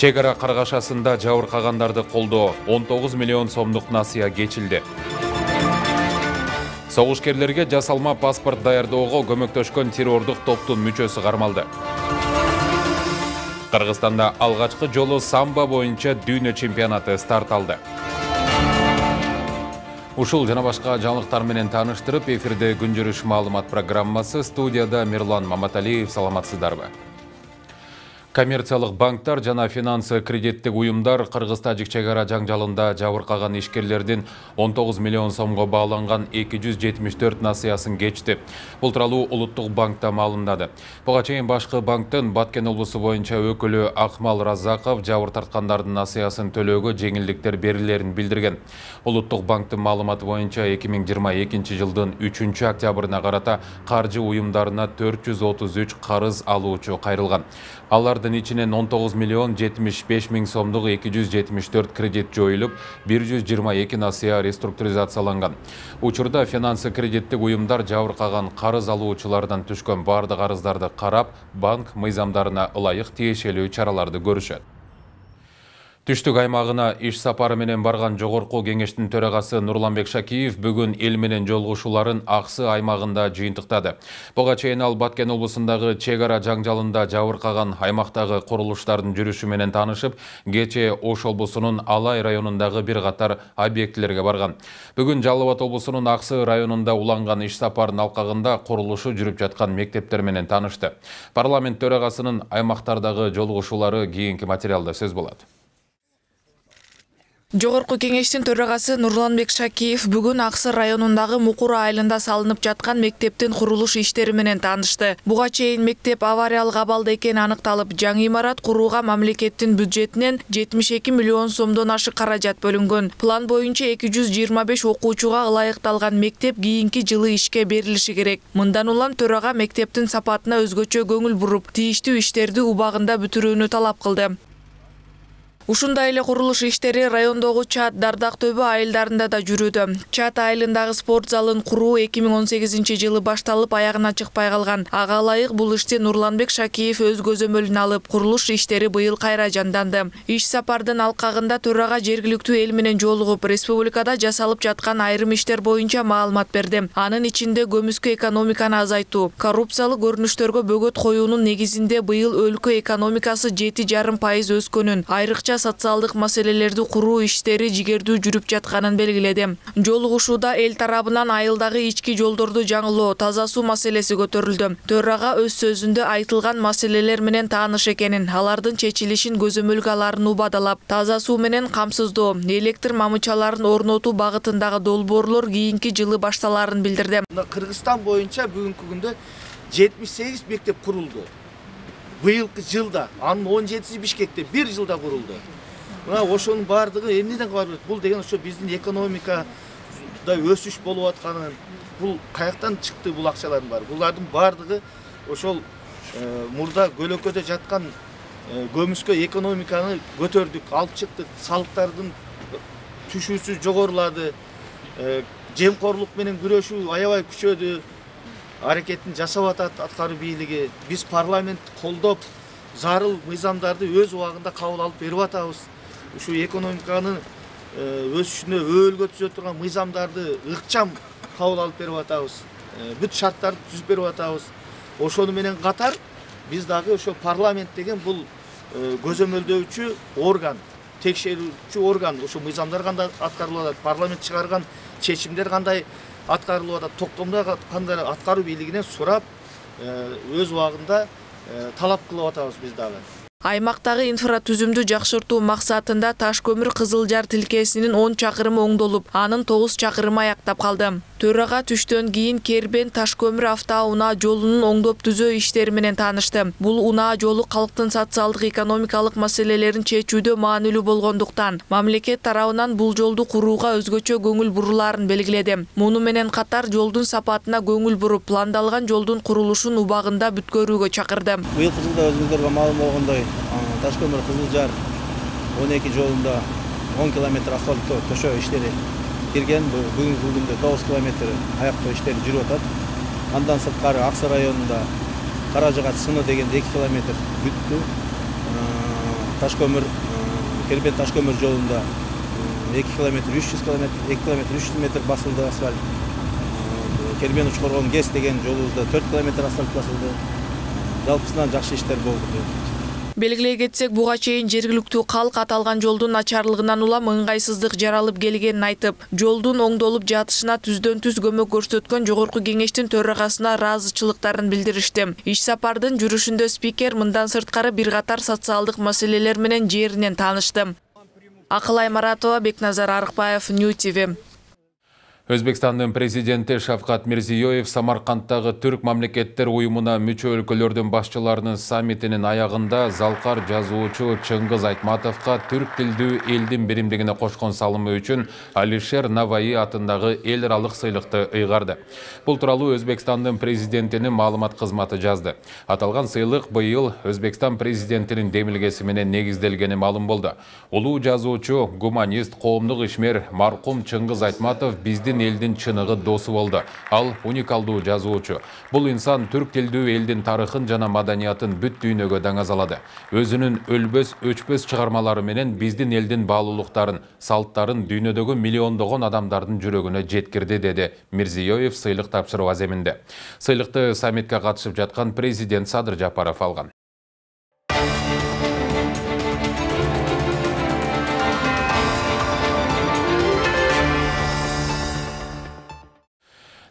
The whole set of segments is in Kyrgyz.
Чек ара каргашасында жабыркагандарды колдоо 19 миллион сомдук насыя кечилди. Согушкерлерге жасалма паспорт даярдоого көмөктөшкөн террордук топтун мүчөсү кармалды. Кыргызстанда алгачкы жолу самбо боюнча дүйнө чемпионаты старт алды. Ушул жана башка жаңылыктар менен тааныштырып, эфирде күн жүрүш маалымат программасы, студияда Мирлан Маматалиев. Саламатсыздарбы? Коммерциялык банктар жана финансы кредиттик уюмдар Кыргыз-Тажик чек ара жаңжалында жабыркаган ишкерлердин 19 миллион сомго бааланган 274 насыясын кечти. Бул тууралуу Улуттук банкта маалымдады. Буга чейин башкы банктын Баткен облусу боюнча өкүлү Акмал Разаков жабыр тарткандардын насыясын төлөөгө жеңилдиктер берилерин билдирген. Улуттук банктын маалыматы боюнча 2022 жылдын 3 октябрына карата каржы уюмдарына 433 карыз алуучу кайрылган. Алардын ичинен 19 миллион 75 миң сомдук 274 кредит жоюлуп, 122 насыя реструктуризацияланган. Учурда финансы кредиттик уюмдар жабыркаган карыз алуучулардан түшкөн бардык арыздарды карап, банк мыйзамдарына ылайык тиешелүү чараларды көрүшөт. Түштүк аймагына иш сапары менен барган Жогорку кеңештин төрагасы Нурланбек Шакиев бүгүн эл менен жолугушууларын Аксы аймагында жыйынтыктады. Буга чейин ал Баткен облусундагы чек ара жаңжалында жабыркаган аймактагы курулуштардын жүрүшү менен таанышып, кечээ Ош облусунун Алай районундагы бир катар объектилерге барган. Бүгүн Жалал Абад облусунун Аксы районунда уланган иш сапарынын алкагында курулушу жүрүп жаткан мектептер менен таанышты. Парламент төрагасынын аймактардагы жолугушуулары кийинки материалда сөз болот. Жогорку кеңештин төрагасы Нурланбек Шакиев бүгүн Аксы районундагы Мукур айылында салынып жаткан мектептин курулуш иштери менен таанышты. Буга чейин мектеп авариялык абалда экени аныкталып, жаңы имарат курууга мамлекеттин бюджетинен 72 миллион сомдон ашык каражат бөлүнгөн. План боюнча 225 окуучуга ылайыкталган мектеп кийинки жылы ишке берилиши керек. Мындан улам төрага мектептин сапатына өзгөчө көңүл буруп, тийиштүү иштерди убагында бүтүрүүнү талап кылды. Ушундай эле курулуш иштери райондогу Чат, Дардак төбө айылдарында да жүрүүдө. Чат айылындагы спорт залын куруу 2018 жылы башталып, аягына чыкпай калган. Ага ылайык бул ишти Нурланбек Шакиев өз көзөмөлүнө алып, курулуш иштери быйыл кайра жанданды. Иш сапардын алкагында төрага жергиликтүү эл менен жолугуп, республикада жасалып жаткан айрым иштер боюнча маалымат берди. Анын ичинде көмүскө экономиканы азайтуу, коррупциялык көрүнүштөргө бөгөт коюунун негизинде быйыл өлкө экономикасы 7,5% өскөнүн, айрыкча социалдык маселелерди куруу иштери жигердүү жүрүп жатканын белгиледи. Жолугушууда эл тарабынан айылдагы ички жолдорду жаңылоо, таза суу маселеси көтөрүлдү. Төрага өз сөзүндө айтылган маселелер менен тааныш экенин, алардын чечилишин көзөмөлгө аларын убадалап, таза суу менен камсыздоо, электр мамычаларын орнотуу багытындагы долбоорлор кийинки жылы башталарын билдирди. Кыргызстан боюнча бүгүнкү күндө 78 мектеп курулду. Быйылкы жылда, анын 17 Бишкекте бир жылда курулду. Мына ошонун бардыгы эмнеден кабар берет? Бул деген ошо биздин экономикада өсүш болуп атканын, бул каяктан чыкты бул акчалардын баары? Булардын бардыгы ошол мурда көлөкөдө жаткан көмүскө экономиканы көтөрдүк, алып чыктык, салыктардын түшүүсү жогорулады, жемкорлук менен күрөшүү аябай күчөдү. Аракетин жасап атат аткаруу бийлиги. Биз парламент колдоп, зарыл мыйзамдарды өз убагында кабыл алып берип атабыз. Ушу экономиканын өсүшүнө өөлгө түзө турган мыйзамдарды ыкчам кабыл алып берип атабыз. Бүт шарттарды түзүп берип атабыз. Ошону менен катар биз дагы ошо парламент деген бул көзөмөлдөөчү орган, текшерүүчү орган. Ошо мыйзамдар кандай аткарылып атат, парламент чыгарган чечимдер кандай аткарылып атат, токтомдо кандай аткаруу бийлигинен сурап, өз убагында талап кылып атабыз биз дагы. Аймактагы инфратүзүмдү жакшыртуу максатында таш көмүр Кызылжар тилкесинин 10 чакырымы оңдолуп, анын 9 чакырымы аяктап калды. Төрага түштөн кийин Кербен таш көмүр автоунаа жолунун оңдоп түзөө иштери менен таанышты. Бул унаа жолу калктын социалдык экономикалык маселелерин чечүүдө маанилүү болгондуктан, мамлекет тарабынан бул жолду курууга өзгөчө көңүл бурулаарын белгиледи. Муну менен катар жолдун сапатына көңүл буруп, пландалган жолдун курулушун убагында бүткөрүүгө чакырды. Быйылкы жылда өзүңүздөргө маалым болгондой, таш көмүр Кызылжар 12 жолунда 10 километр асфальттоо төшөө иштери кирген. Бүгүнкү күндө 9 километр аяктоо иштери жүрүп атат. Андан сырткары Аксы районунда Каражыгач сыны деген 2 километр бүттү. Таш көмүр Кербен таш көмүр жолунда 2 километр 300 метр басылды асфальт. Кербен Учкоргон ГЭС деген жолубузда 4 километр асфальт басылды. Жалпысынан жакшы иштер болду. Белгилей кетсек, буга чейин жергиликтүү калк аталган жолдун начарлыгынан улам ыңгайсыздык жаралып келгенин айтып, жолдун оңдолуп жатышына түздөн түз көмөк көрсөткөн жогорку кеңештин төрагасына ыраазычылыктарын билдиришти. Иш сапардын жүрүшүндө спикер мындан сырткары бир катар социалдык маселелер менен жеринен таанышты. Акылай Маратова, Бекназар Арыкбаев, New TV. Өзбекстандын президенти Шавкат Мирзиёев Самаркандтагы Түрк мамлекеттер уюмуна мүчө өлкөлөрдүн башчыларынын саммитинин аягында залкар жазуучу Чыңгыз Айтматовго түрк тилдүү элдин биримдигине кошкон салымы үчүн Алишер Наваи атындагы эл аралык сыйлыкты ыйгарды. Бул тууралуу Өзбекстандын президентинин маалымат кызматы жазды. Аталган сыйлык быйыл Өзбекстан президентинин демилгеси менен негизделгени маалым болду. Улуу жазуучу, гуманист, коомдук ишмер маркум Чыңгыз Айтматов биздин элдин чыныгы досу болду. Ал уникалдуу жазуучу. Бул инсан түрк тилдүү элдин тарыхын жана маданиятын бүт дүйнөгө даңазалады. Өзүнүн өлбөс, өчпөс чыгармалары менен биздин элдин баалуулуктарын, салттарын дүйнөдөгү миллиондогон адамдардын жүрөгүнө жеткирди, деди Мирзиёев сыйлык тапшыруу аземинде. Сыйлыкты саммитке катышып жаткан президент Садыр Жапаров алган.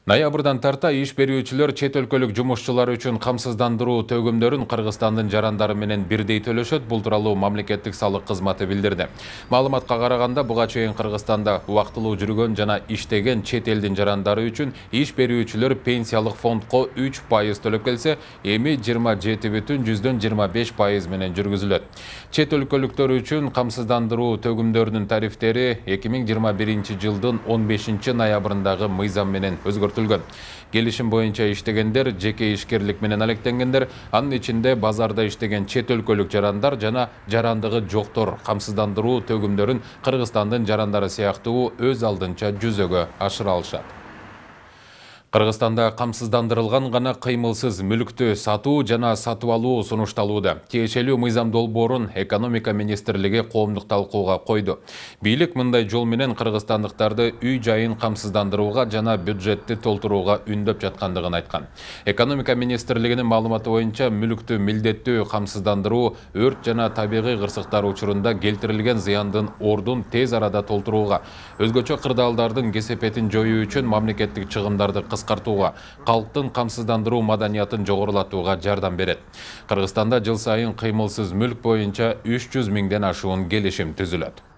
Ноябрдан тарта иш берүүчүлөр чет өлкөлүк жумушчулар үчүн камсыздандыруу төгүмдөрүн Кыргызстандын жарандары менен бирдей төлөшөт. Бул тууралуу мамлекеттик салык кызматы билдирди. Маалыматка караганда, буга чейин Кыргызстанда убактылуу жүргөн жана иштеген чет элдин жарандары үчүн иш берүүчүлөр пенсиялык фондко 3% төлөп келсе, эми 27,25% менен жүргүзүлөт. Чет өлкөлүктөр үчүн камсыздандыруу төгүмдөрүнүн тарифтери 2021 жылдын 15 ноябрындагы мыйзам менен өзгөртүлгөн. Келишим боюнча иштегендер, жеке ишкерлик менен алектенгендер, анын ичинде базарда иштеген чет өлкөлүк жарандар жана жарандыгы жоктор камсыздандыруу төгүмдөрүн Кыргызстандын жарандары сыяктуу өз алдынча жүзөгө ашыра алышат. Кыргызстанда камсыздандырылган гана кыймылсыз мүлктү сатуу жана сатып алуу сунушталууда. Тиешелүү мыйзам долбоорун экономика министрлиги коомдук талкууга койду. Бийлик мындай жол менен кыргызстандыктарды үй жайын камсыздандырууга жана бюджетти толтурууга үндөп жаткандыгын айткан. Экономика министрлигинин маалыматы боюнча мүлктү милдеттүү камсыздандыруу өрт жана табигый кырсыктар учурунда келтирилген зыяндын ордун тез арада толтурууга, өзгөчө кырдаалдардын кесепетин жоюу үчүн мамлекеттик чыгымдарды кыскартууга, калктын камсыздандыруу маданиятын жогорулатууга жардам берет. Кыргызстанда жыл сайын кыймылсыз мүлк боюнча 300 миңден ашуун келишим түзүлөт.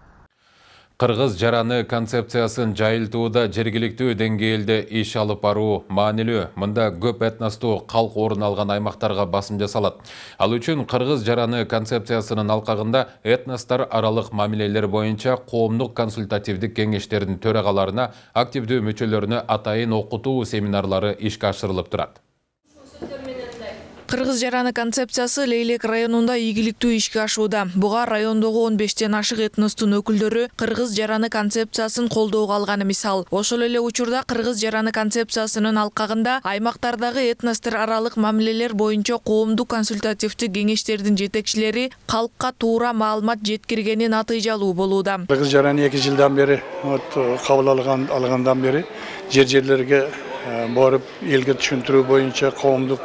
Кыргыз жараны концепциясын жайылтууда жергиликтүү деңгээлде иш алып баруу маанилүү. Мында көп этностуу калк орун алган аймактарга басым жасалат. Ал үчүн кыргыз жараны концепциясынын алкагында этностор аралык мамилелер боюнча коомдук консультативдик кеңештердин төрагаларына, активдүү мүчөлөрүнө атайын окутуу семинарлары ишке ашырылып турат. Кыргыз жараны концепциясы Лейлек районунда ийгиликтүү ишке ашууда. Буга райондогу 15тен ашык этностун өкүлдөрү кыргыз жараны концепциясын колдоого алганы мисал. Ошол эле учурда кыргыз жараны концепциясынын алкагында аймактардагы этностор аралык мамилелер боюнча коомдук консультативдик кеңештердин жетекчилери калкка туура маалымат жеткиргени натыйжалуу болууда. Кыргыз жараны 2 жылдан бери кабыл алгандан бери жерлерге барып элге түшүндүрүү боюнча коомдук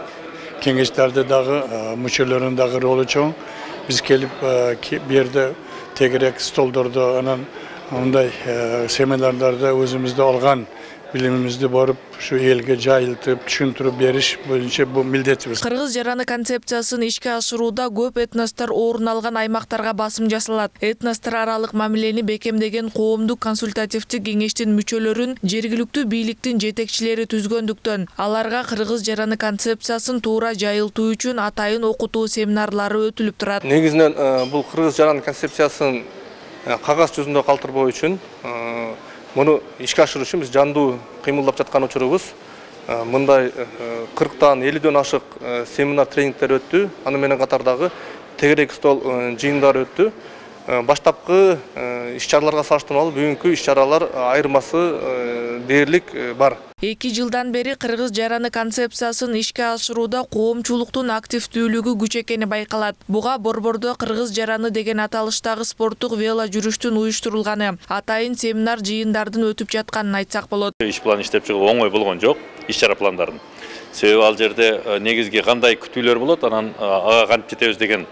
кеңештерде дагы мүчөлөрүнүн дагы ролу чоң. Биз келип бу жерде тегерек столдордо анан мындай семинарларда өзүмүздө алган билимибизди барып ушу элге жайылтып, түшүндүрүп бериш боюнча бул милдетибиз. Кыргыз жараны концепциясын ишке ашырууда көп этностор орун алган аймактарга басым жасалат. Этностор аралык мамилени бекемдеген коомдук консультативдик кеңештин мүчөлөрүн жергиликтүү бийликтин жетекчилери түзгөндүктөн аларга кыргыз жараны концепциясын туура жайылтуу үчүн атайын окутуу семинарлары өтүлүп турат. Негизинен бул кыргыз жараны концепциясын кагаз жүзүндө калтырбоо үчүн муну ишке ашыруу үчүн биз жандуу кыймылдап жаткан учурубуз. Мындай 40-тан 50-дөн ашык семинар тренингтер өттү. Аны менен катардагы тегерек стол жыйындар өттү. Баштапкы иш-чараларга салыштырмалуу бүгүнкү иш-чаралар айырмасы дээрлик бар. 2 жылдан бери кыргыз жараны концепциясын ишке ашырууда коомчулуктун активдүүлүгү күч экени байкалат. Буга борбордо кыргыз жараны деген аталыштагы спорттук вело жүрүштүн уюштурулганы, атайын семинар жыйындардын өтүп жатканын айтсак болот. Иш план иштеп чыгуу оңой болгон жок, иш-чара пландарын. Себеби ал жерде негизги кандай күтүүлөр болот, анан ага кантип жетебиз деген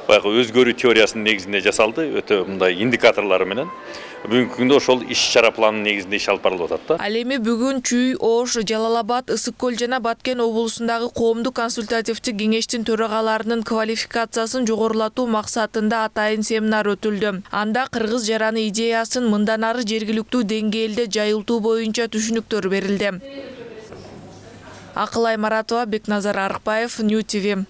баягы өзгөрүү теориясынын негизинде жасалды, өтө мындай индикаторлору менен. Бүгүнкү күндө ошол иш-чара планынын негизинде иш алып барылып атат да. Ал эми бүгүн Чүй, Ош, Жалал-Абад, Ысык Көл жана Баткен облусундагы коомдук консультативдик кеңештин төрагаларынын квалификациясын жогорулатуу максатында атайын семинар өтүлдү. Анда кыргыз жараны идеясын мындан ары жергиликтүү деңгээлде жайылтуу боюнча түшүнүктөр берилди. Акылай Маратова, Бекназар Арыкбаев, New TV.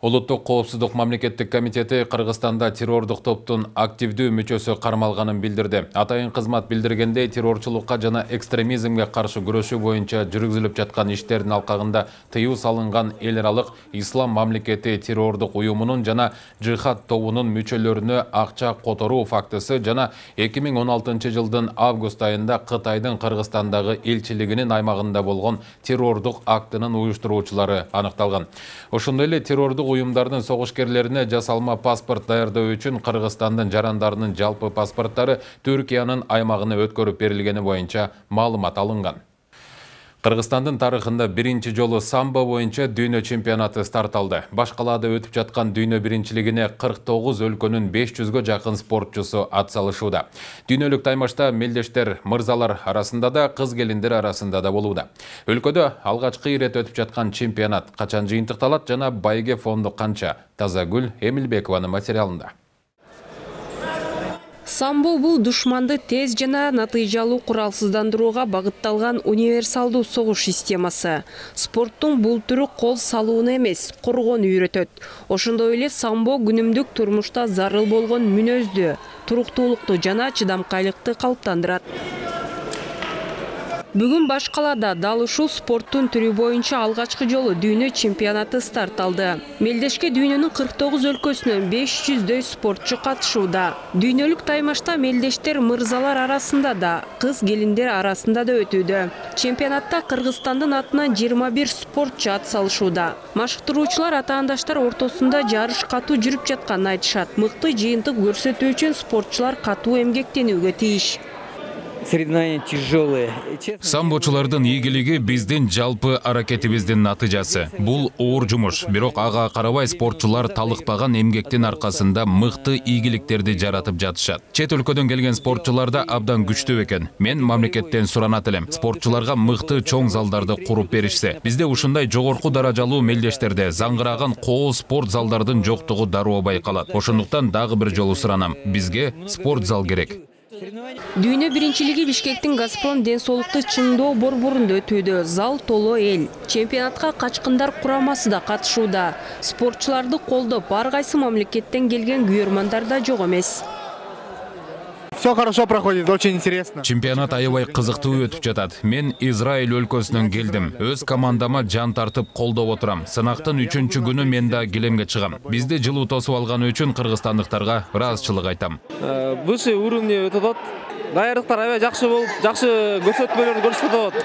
Улуттук коопсуздук мамлекеттик комитети Кыргызстанда террордук топтун активдүү мүчөсү кармалганын билдирди. Атайын кызмат билдиргендей, террорчулукка жана экстремизмге каршы күрөшүү боюнча жүргүзүлүп жаткан иштердин алкагында тыюу салынган эл аралык Ислам мамлекети террордук уюмунун жана Джихад тобунун мүчөлөрүнө акча которуу фактысы жана 2016 жылдын август айында Кытайдын Кыргызстандагы элчилигинин аймагында болгон террордук актынын уюштуруучулары аныкталган. Ошондой эле террордук уюмдардын согушкерлерине жасалма паспорт даярдоо үчүн Кыргызстандын жарандарынын жалпы паспорттары Түркиянын аймагына өткөрүп берилгени боюнча маалымат алынган. Кыргызстандын тарыхында биринчи жолу самбо боюнча дүйнө чемпионаты старт алды. Баш калаада өтүп жаткан дүйнө биринчилигине 49 өлкөнүн 500гө жакын спортчусу атсалышууда. Дүйнөлүк таймашта мелдештер мырзалар арасында да, кыз келиндер арасында да болууда. Өлкөдө алгачкы ирет өтүп жаткан чемпионат качан жыйынтыкталат жана байге фонду канча? Тазагүл Эмилбекованын материалында. Самбо бул душманды тез жана натыйжалуу куралсыздандырууга багытталган универсалдуу согуш системасы. Спорттун бул түрү кол салууну эмес, коргоону үйрөтөт. Ошондой эле самбо күнүмдүк турмушта зарыл болгон мүнөздү, туруктуулукту жана чыдамкайлыкты калыптандырат. Бүгүн баш калаада дал ушул спорттун түрү боюнча алгачкы жолу дүйнө чемпионаты старт алды. Мелдешке дүйнөнүн 49 өлкөсүнөн 500дөй спортчу катышууда. Дүйнөлүк таймашта мелдештер мырзалар арасында да, кыз келиндер арасында да өтүүдө. Чемпионатта Кыргызстандын атынан 21 спортчу атсалышууда. Машыктыруучулар атаандаштар ортосунда жарыш катуу жүрүп жатканын айтышат. Мыкты жыйынтык көрсөтүү үчүн спортчулар катуу эмгектенүүгө тийиш. Соревнования тяжелые. Самбочулардын ийгилиги биздин жалпы аракетибиздин натыйжасы. Бул оор жумуш, бирок ага карабай спортчулар талыкпаган эмгектин аркасында мыкты ийгиликтерди жаратып жатышат. Чет өлкөдөн келген спортчулар да абдан күчтүү экен. Мен мамлекеттен суранат элем. Спортчуларга мыкты чоң залдарды куруп беришсе. Бизде ушундай жогорку даражалуу мелдештерде заңгыраган коо спорт залдардын жоктугу дароо байкалат. Ошондуктан дагы бир жолу суранам. Бизге спорт зал керек. Дүйнө биринчилиги Бишкектин Газпром ден соолукту чыңдоо борборунда өтүүдө. Зал толо эл. Чемпионатка качкындар курамасы да катышууда. Спортчуларды колдоп, ар кайсы мамлекеттен келген күйөрмандар да жок эмес. Все хорошо проходит, очень интересно. Чемпионат аябай кызыктуу өтүп жатат. Мен Израиль өлкөсүнөн келдим. Өз командама жан тартып колдоп отурам. Сынактын 3-чү күнү мен да килемге чыгам. Бизди жылуу тосуп алганы үчүн кыргызстандыктарга ыраазычылык айтам. Высший уровень өтүп атат. Даярдыктар аябай жакшы болуп, жакшы көрсөтмөлөрдү көрсөтүп атат.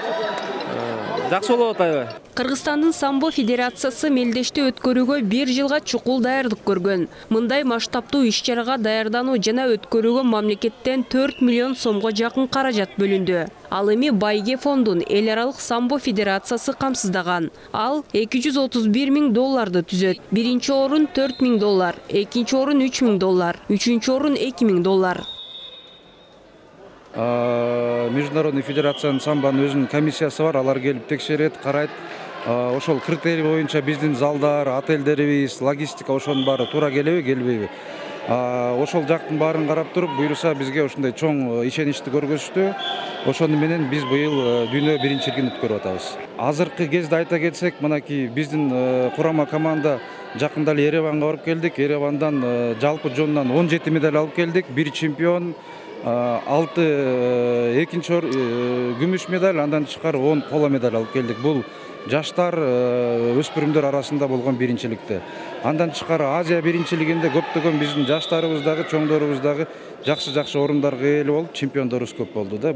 жакшы болуп атайбы? Кыргызстандын самбо федерациясы мелдешти өткөрүүгө 1 жылга чукул даярдык көргөн. Мындай масштабтуу иш-чарага даярдануу жана өткөрүүгө мамлекеттен 4 миллион сомго жакын каражат бөлүндү. Ал эми Байге фондун эл аралык самбо федерациясы камсыздаган. Ал $231,000 түзөт. Биринчи орун $4,000, экинчи орун $3,000, үчүнчү орун $2,000. Международный федерациянын самбонун өзүнүн комиссиясы бар, алар келип текшерет, карайт. Ошол критерий боюнча биздин залдар, отелдерибиз, логистика ошонун баары туура келеби, келбейби? Ошол жактын баарын карап туруп, буюрса бизге ошондой чоң ишеничти көргөзүштү. Ошону менен биз быйыл дүйнө биринчилигин өткөрүп атабыз. Азыркы кезде айта кетсек, мынакей биздин курама команда жакында эле Ереванга барып келдик. Еревандан жалпы жонунан 17 медаль алып келдик. 1 чемпион, 6 экинчи күмүш медаль, андан тышкары 10 коло медаль алып келдик. Бул жаштар, өспүрүмдөр арасында болгон биринчиликте. Андан тышкары Азия биринчилигинде көптөгөн биздин жаштарыбыз дагы, чоңдорубуз дагы жакшы орундорго ээ болуп, чемпиондорубуз көп болду да.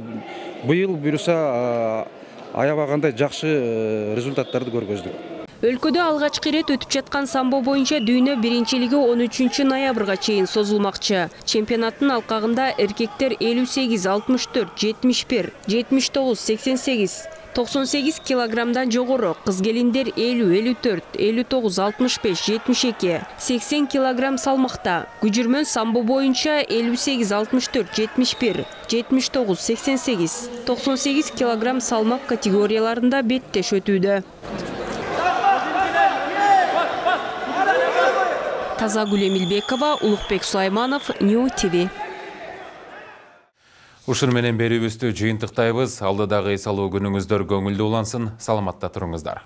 Быйыл буюрса аябагандай жакшы результаттарды көргөздүк. Өлкөдө алгачкы ирет өтүп жаткан самбо боюнча дүйнө биринчилиги 13 ноябрга чейин созулмакчы. Чемпионаттын алкагында эркектер 58, 64, 71, 79, 88, 98 килограммдан жогору, кыз келиндер 50, 54, 59, 65, 72, 80 килограмм салмакта. Күжүрмөн самбо боюнча 58, 64, 71, 79, 88, 98 килограмм салмак категорияларында беттеш өтүүдө. Тазагүл Эмилбекова, Улукбек Сулайманов, New TV. Ушун менен берүүбүздү жыйынтыктайбыз. Алдыдагы эс алуу күнүңүздөр көңүлдүү улансын. Саламатта туруңуздар.